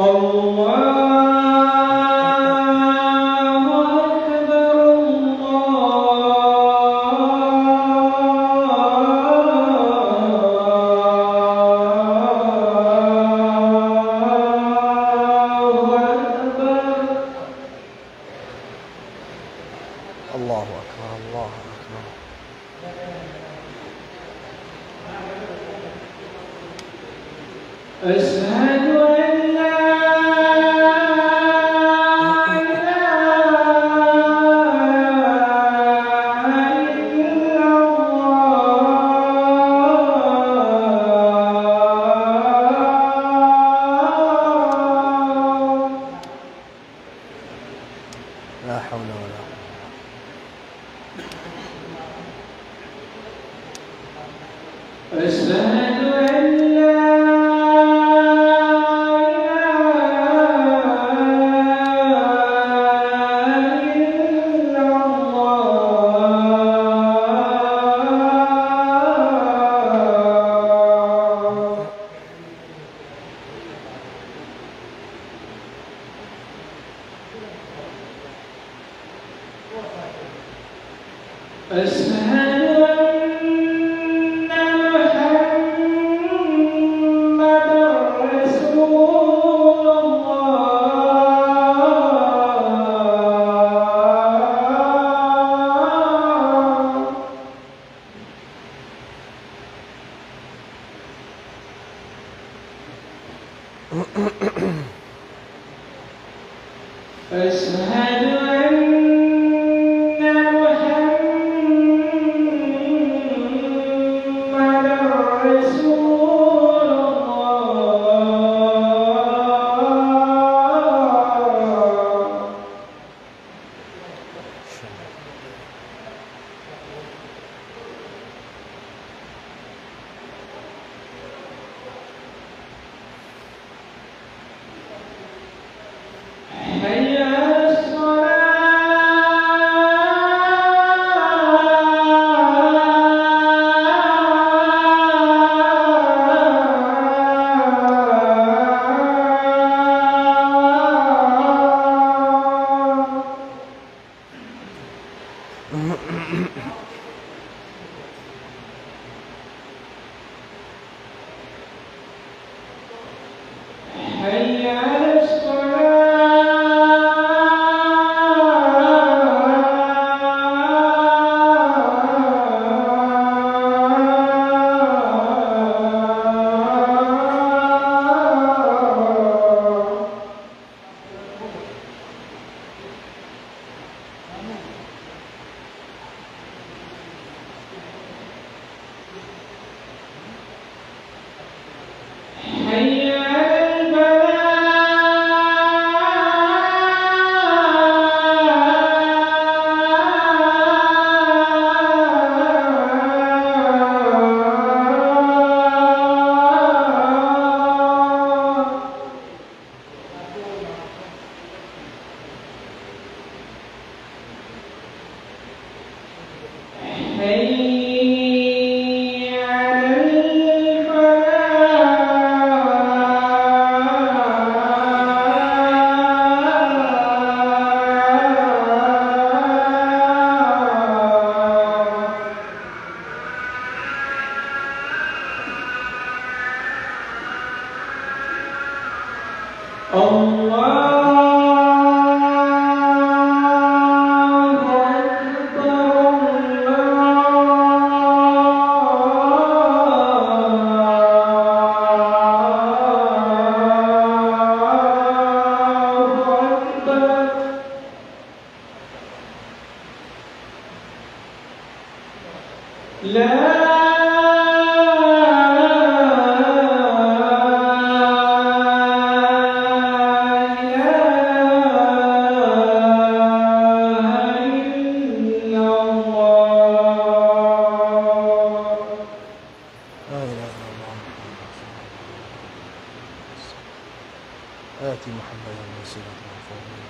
الله أكبر، الله أكبر. الله أكبر، الله أكبر. أشهد أن لا إله إلا الله. لا حول ولا قوة. أشهد أن لا إله إلا الله. أشهد أن محمدا رسول الله. أشهد أن محمدا رسول الله. حي على الصلاة. حي على الصلاة. حي على الفلاح. حي على الفلاح. الله أكبر، الله أكبر. لا إله إلا الله. لا إله إلا الله. آت محمدا الوسيلة والفضيلة.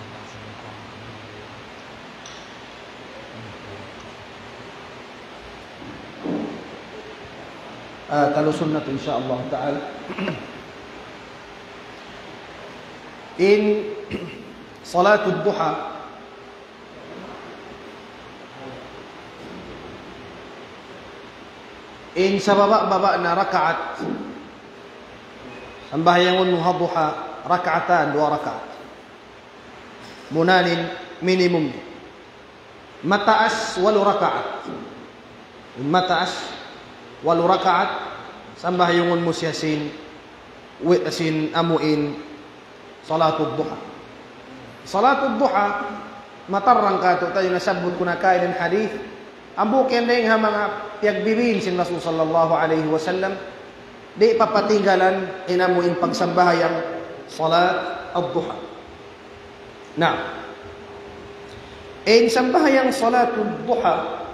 Ah, talusun natu', insya Allah ta'ala. In salatul duha, in sababa'-baba' na rakaat, sambahayangun mu ha duha, rakaatan, duwa rakaat. Muna in minimum. Mataas, walu rakaat. Mataas, walu rakaat, sambahayangun mu siya sin, wi-, sin amuin salatul duha. Salatul duha, matarrang katu' tayu nasabbut ku na kaina in hadith, hambuuk yan dayn ha manga piyagbibin sin Rasul sallallahu alayhi wasallam, di' papatinggalan in amuin pagsambahayang salat ad-duha. Na, in sambahayang salatul duha,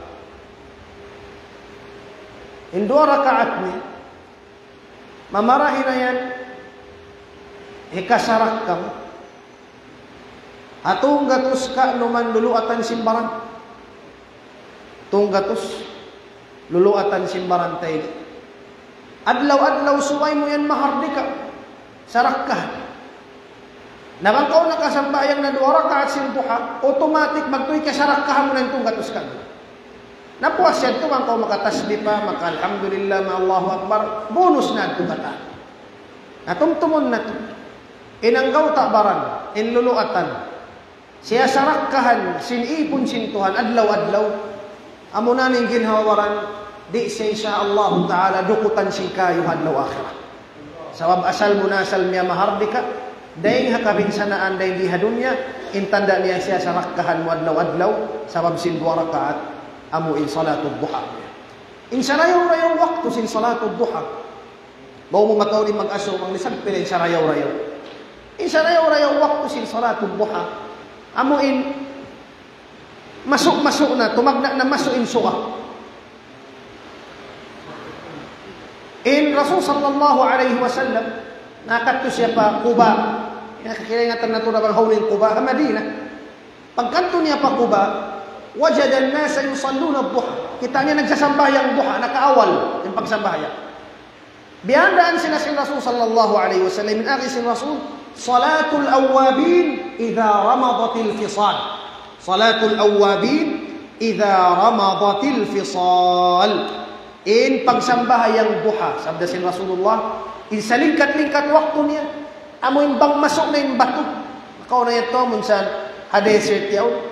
in duwa rakaat niya, mamarahi na yan hikasarakka mu ha tunggatus ka'numan luluatan sin baran. Tunggatus luluatan sin baran ta ini. Adlaw-adlaw subay mu yan mahardika, sarakkahan. Na bang kaw nakasambahayang na duwa rakaat sin duha, automatic magtuy kasarakkahan mu na in tunggatus ka'nu. Na puas yadtu bang kaw makatasbih pa, maka-alhamdulillah, ma-Allahu Akbar, bonus na yadtu katan. Na tumtumun natu'. In anggawta' baran, in luluatan, siya sarakkahan sin ipun sin Tuhan adlaw-adlaw. Amuna in ginhawa-baran, di' siya, insya Allah ta'ala, dukutan sin kayu ha adlaw akhirat. Sabab asal mu na asal miyamahardika, dayn ha kabinsanaan dayn di ha dunya, in tanda' niya siya sarakkahan mu adlaw-adlaw, sabab sin duwa rakaat, amu in salatul duha. In sarayaw-rayaw waktu sin salatul duha. Bang mu mataud in mag-asubu, bang lisag pila in sarayaw-rayaw. In sarayaw-rayaw waktu sin salatul duha. Amu in masu'-masu' na, tumagna' na masu' in suga. In Rasul sallallahu alayhi wasallam, nakadtu siya pa Quba. Nakakaingatan natu' na bang hawnu in Quba, ha Madinah. Pagkadtu niya pa Quba, وجد الناس يصلون الضحى. Kita' niya nagsasambahayang duha, nakaawal in pagsambahayang. Biyandaan sila sin Rasul sallallahu alayhi wasallam, in agi sin Rasul, صلاة الأوابين إذا رمضت الفصال. صلاة الأوابين إذا رمضت الفصال. In pagsambahayang duha, sabda sin Rasulullah, in salingkat-lingkat waktu niya, amu in bang masu' na in batu. Makauna yadtu amun sa ha desert yaun.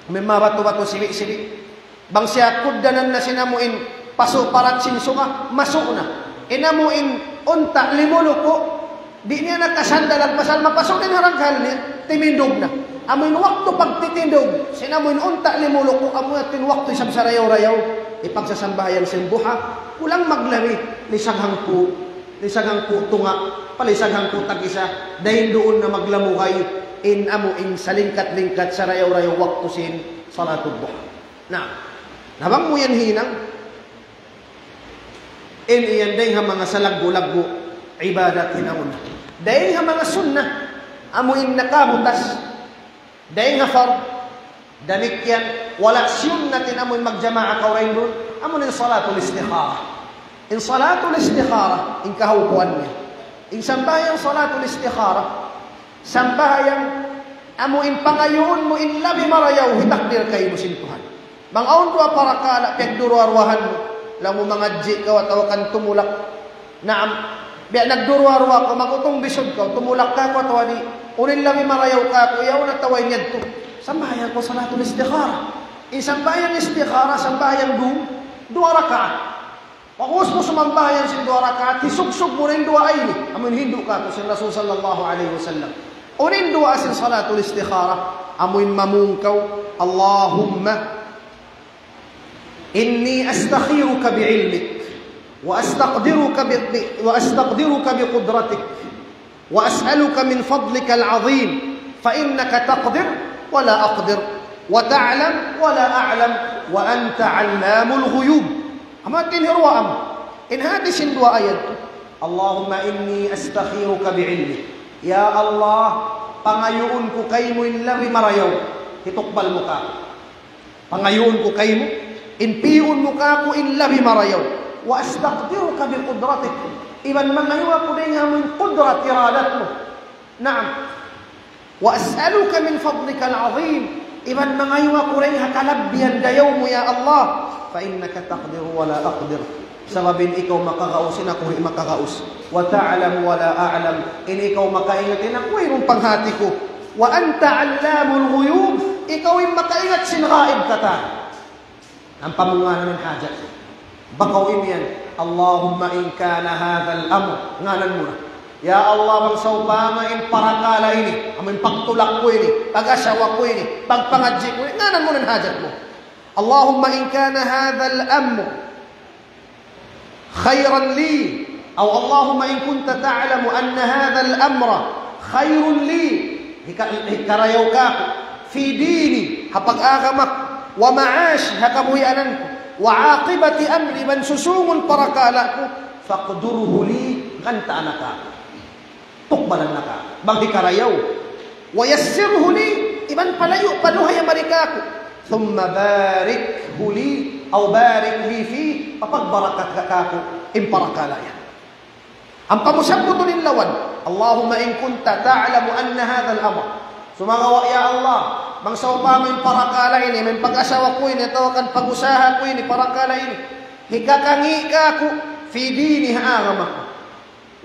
Amu in manga batu-batu sibi'-sibi'. Bang siya kugdanan na sin amu in pasu' parat sin suga, masu' na. In amu in unta' limuluku', di' niya na kasandal, pasal mapasu' na in ha raghal niya, timindug na. Amu in waktu pagtitindug sin amu in unta' limuluku', amu in waktu isab sarayaw-rayaw, in pagsasambahayang sin duha, kulang maglabi, lisag hangpu', lisag hangpu' tunga', palisag hangpu' tag-isa, dayn duun na maglamugay, in amu in salingkat-lingkat sarayaw-rayaw waktu sin salatul duha. Na, na bang mu yan hinang, in yan dayn ha manga salaggu'-laggu' ibadat hinangun. Dayn ha manga sunnah, amu in nakabutas, dayn ha fard, damikkiyan, wala' siyunnat in amu in magjamaa kaw dayn duun, amu in salatul istikharah. In salatul istikharah, in kahaupuan niya. In sambahayang salatul istikharah, sambahayang amu in pangayuun mu in labi marayaw hitakdir kaymu sin Tuhan. Bang awn duwa parakala' piyagduruwa-ruwahan mu, laung mu mangadji' kaw atawa kan tumulak. Naam, biya' nagduruwa-ruwa kaw, mag-utung bisud kaw, tumulak kaw atawa di', unu in labi marayaw kaku', yaun atawa in yadtu. Sambahayang kaw salatul istikharah. In sambahayang istikharah, sambahayang du-, duwa rakaat. Pag'ubus mu sumambahayang sin duwa rakaat, hisugsug mu in duwaa ini. Amu in hindu' kātu' sin Rasul sallallahu alayhi wasallam. Unu in duwaa sin salatul istikharah? Amu in mamung kaw, اللهم إني أستخيرك بعلمك وأستقدرك ب-، ب-، وأستقدرك بقدرتك وأسألك من فضلك العظيم، فإنك تقدر ولا أقدر، وتعلم ولا أعلم، وأنت علام الغيوب. Amu in hiruwaa mu. In hati sin duwaa yadtu. اللهم إني أستخيرك بعلمك. Ya Allah, pangayuun ku kaymu in labi marayaw. Hitukbal mu kāku'. Pangayuun ku kaymu, in piyuun mu kāku' in labi marayaw. وأستقدرك بقدرتك. Iban mangayu' aku dayn ha amu in qudrat, iradat mu. Naam. وأسألك من فضلك العظيم. Iban mangayu' aku dayn ha kalabbihan dayaw mu, ya Allah. فإنك تقدر ولا أقدر. Sabab in ikaw makagaus, in aku di' makagaus. وتعلم ولا أعلم. In ikaw makaingat, in aku wayruun panghati ku. وأنت علام الغيوب. Ikaw in makaingat sin ghaib katan. Ampa mu ngānan in hajat. Bang kaw imiyan, اللهم إن كان هذا الأمر. Ngānan mu na. Ya Allah, bang sawpama in parakala' ini, amu in pagtulak ku ini, pag-asawa ku ini, pagpangadji' ku ini, ngānan mu na in hajat mu. اللهم إن كان هذا الأمر خيرا لي، أو اللهم إن كنت تعلم أن هذا الأمر خير لي، hika-, hikarayaw kāku', في ديني, ha pag-agama ku, ومعاشي, ha kabuhianan ku, وعاقبة أمري, iban susūngun parakala' ku, فاقدره لي, ganta' na kāku'. Tukbalan na kāku'. Bang hikarayaw. ويسره لي, iban palayu', paduhaya mari kāku'. ثم باركه لي، أو بارك لي فيه, papagbarakat ka kāku', in parakala' yan. Ampa mu sabbutun in lawan. اللهم إن كنت تعلم أن هذا الأمر. Sumagawa' ya Allah, bang sawpama in parakala' ini, in pag-asawa ku ini, atawa kan pag-usaha ku ini, parakala' ini. Hikakangi' kāku', في ديني, ha agama ku.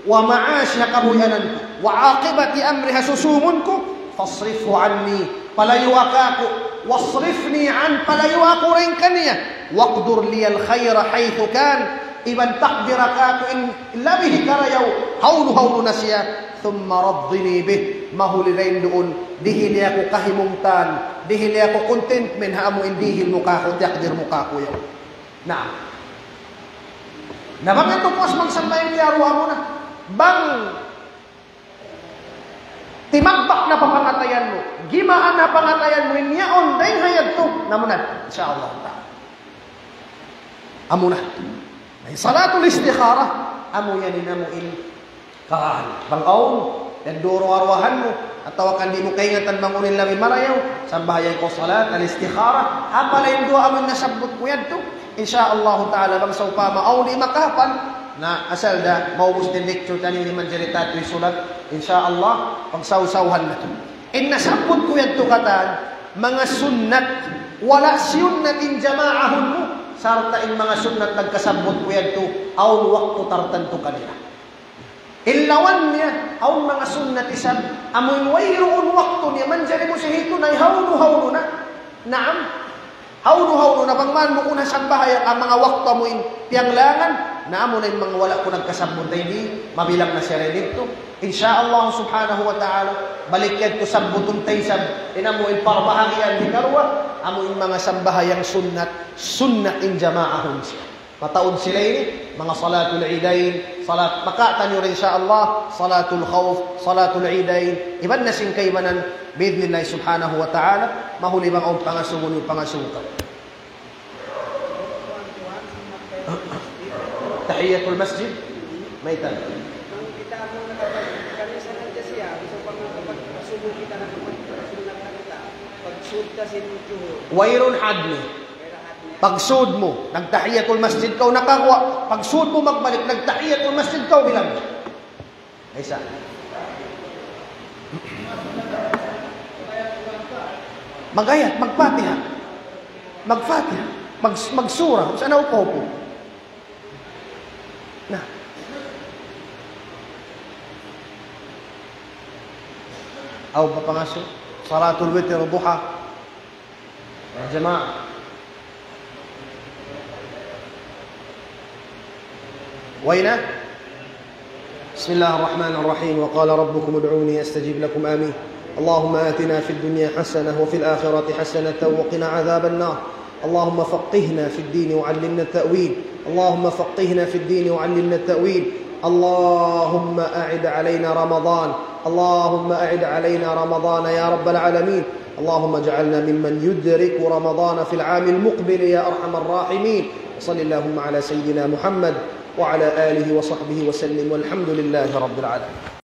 ومعاشي, ha kabuhianan ku. وعاقبة أمري, ha susūngun ku. فاصرفه عني. Palayua kāku'. واصرفني عنه. Palayua aku dayn kaniya. واقدر لي الخير حيث كان. Iban takdira kāku' in labi karayaw, hawnu-hawnu na siya. ثم رضني به, mahuli dayn duun, dihili aku kahimungtan, dihili aku contentment ha amu in dihil mu kāku', takdir mu kāku' yaun. Naam. Na bang yadtu puas magsambahayang kiyaruwa mu na. Bang timagbak na pa pangatayan mu, gimaan na pangatayan mu, in yaun dayn ha yadtu, na amu na, insya Allah ta'ala. Amu na. Ay, salatul istikhara, amu yan in amu in kahan. Bang awn, yan duruwa-ruwahan mu, atawa kan di' mu kaingatan bang unu in labi marayaw, sambahayang kaw salat al-istikhara, hapala in duwa amu in nasabbut ku yadtu. Insya Allah ta'ala, bang sawpama awn di' makahapal, na asal da, maubus in lecture taniyu, di' manjari tatu isulat, insya Allah, pagsawsawhan natu'. In nasabbut ku yadtu katan, manga sunnat, wala' siyunnat in jamaahun mu, sarta' in manga sunnat nagkasabbut ku yadtu, awn waktu tartantu kanila. In lawan niya, awn manga sunnat isab, amu in wayruun waktu niya, manjari mu siya hitunay, hawnu-hawnu na. Naam. Hawnu-hawnu na bang man mu kunu' sambahayang in manga waktu amu in piyanglangan, na amu na in manga wala' ku nagkasabbut dayn di, mabilang na siya dayn didtu. Insya Allah subhanahu wa ta'ala, balik yadtu sabbutun ta isab, in amu in parbahagian hikaruwa, amu in manga sambahayang sunnat, sunnat in jamaahun siya. Mataud sila ini, manga salatul idayn, salat, makawa' taniyu rin, insya Allah, salatul khawf, salatul idayn, iban na sin kaibanan, bi'idhnillah subhanahu wa ta'ala, mahuli bang awn pangasubu niyu pangasubu kaw. Tahiyatul masjid, mayta'? Wayruun had niya. Pagsud mu, nagtahiyatul masjid kaw, nakaguwa'. Pagsud mu magbalik, nagtahiyatul masjid kaw, bilang. Isa. Mag-ayat, mag-Fatiha. Mag-Fatiha. Mag-, magsura. Sa' na upo-upo. Na. Aw, papangasu. Salatul witr, duha. يا جماعة. وين؟ بسم الله الرحمن الرحيم. وقال ربكم ادعوني أستجب لكم. آمين. اللهم آتنا في الدنيا حسنة وفي الآخرة حسنة وقنا عذاب النار. اللهم فقهنا في الدين وعلمنا التأويل. اللهم فقهنا في الدين وعلمنا التأويل. اللهم أعد علينا رمضان. اللهم أعد علينا رمضان يا رب العالمين. اللهم اجعلنا ممن يدرك رمضان في العام المقبل يا أرحم الراحمين. وصل اللهم على سيدنا محمد وعلى آله وصحبه وسلم، والحمد لله رب العالمين.